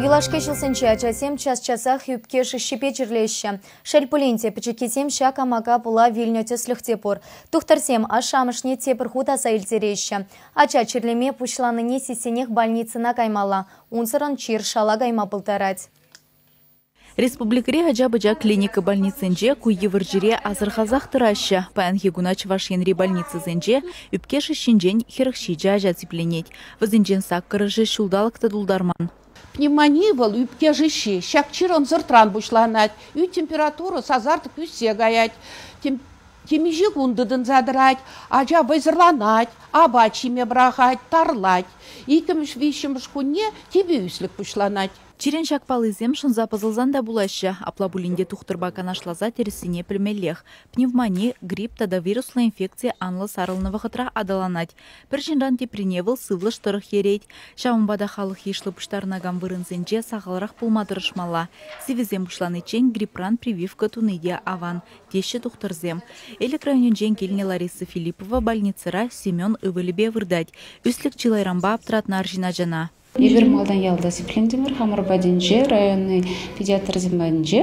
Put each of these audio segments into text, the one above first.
Юлашки ҫулсенче ачасем час-часах ӳпке шыҫҫипе чирлеҫҫӗ. Шел пулин те, пӗчӗккисем ҫак амака пула вилнӗ тӗслӗх те пур. Тухтӑрсем ашшӗ-амӑшне тепӗр хут аса илтереҫҫӗ. Ача чирлеме пуҫланине сиссенех больницӑна каймалла, унсӑрӑн чир шала кайма пултарать. Республикӑри ача-пӑча клиника больницинче ку йывӑр чире асӑрхасах тӑраҫҫӗ. Паянхи куна Чӑваш Енри больницӑсенче ӳпке шыҫҫинчен 47 ача сипленет. Вӗсенчен саккӑрӑшӗ ҫулталӑк та тултарман. Пневмони вӑл ӳпке шыҫҫи. Ҫак чир ӑнсӑртран пуҫланать. Ӳт температура сасартӑк ӳссе каять. Темиҫе кун тытӑнса тӑрать. Ача вӑйсӑрланать, апат ҫиме пӑрахать, тарлать. Иккӗмӗш, виҫҫӗмӗш кунне типӗ ӳслӗк пуҫланать. Чирӗн ҫак паллисем шӑнса пӑсӑлсан та пулаҫҫӗ. Апла пулин те тухтӑрпа канашласа тӗрӗссине пӗлмеллех. Пневмони, грипп тата вируслӑ инфекци анлӑ сарӑлнӑ вӑхӑтра аталанать. Пӗр ҫынран теприне вӑл сывлӑш тӑрӑх ерет. Ҫавӑнпа та халӑх йышлӑ пуҫтарӑнакан вырӑнсенче сахалрах пулма тӑрӑшмалла. Сивӗсем пуҫланиччен грипран прививка туни те аван, теҫҫӗ тухтӑрсем. Элӗк районӗнчен килнӗ Лариса Филиппова больницӑра Семен ывӑлӗпе выртать. Ӳслӗк чылайранпа аптӑратнӑ арҫын ачана. Эпир малтан ялта сиплентӗмӗр, хамӑр патӗнче, районти педиатрсем патӗнче.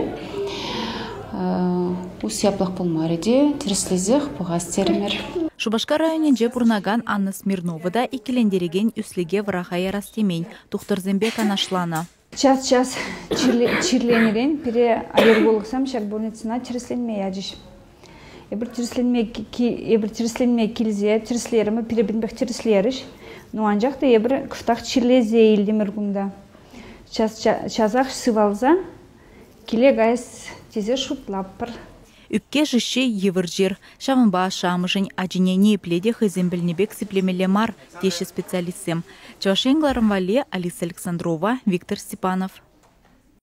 Усси яплах пулмарӗ те, тӗрӗслесех пӑхас терӗмӗр. Шупашкар районӗнче пурӑнакан Анна Смирнова та иккӗлентерекен ӳслӗке вӑраха ярас темен, тухтӑрсемпе канашланӑ. Час-час чирленӗрен пире аллергологсем ҫак больницӑна тӗрӗсленме ячӗҫ. Эпир тӗрӗсленме эпир тӗрӗсленме килсе тӗрӗслерӗмӗр, пире пӗтӗмпех тӗрӗслерӗҫ. Ну, анчах та эпир кӑштах чирлесе илтӗмӗр кунта. Час часах сывалса киле каяс тесе шутлатпӑр. Ӳпке шыҫҫи йывӑр чир. Ҫавӑнпа ашшӗ-амӑшӗн ачине ниепле те хӑйсем пӗлнӗ пек сиплемелле мар, теҫҫӗ специалистсем. Чӑваш Ен кӑларӑм валли Алиса Александрова, Виктор Степанов.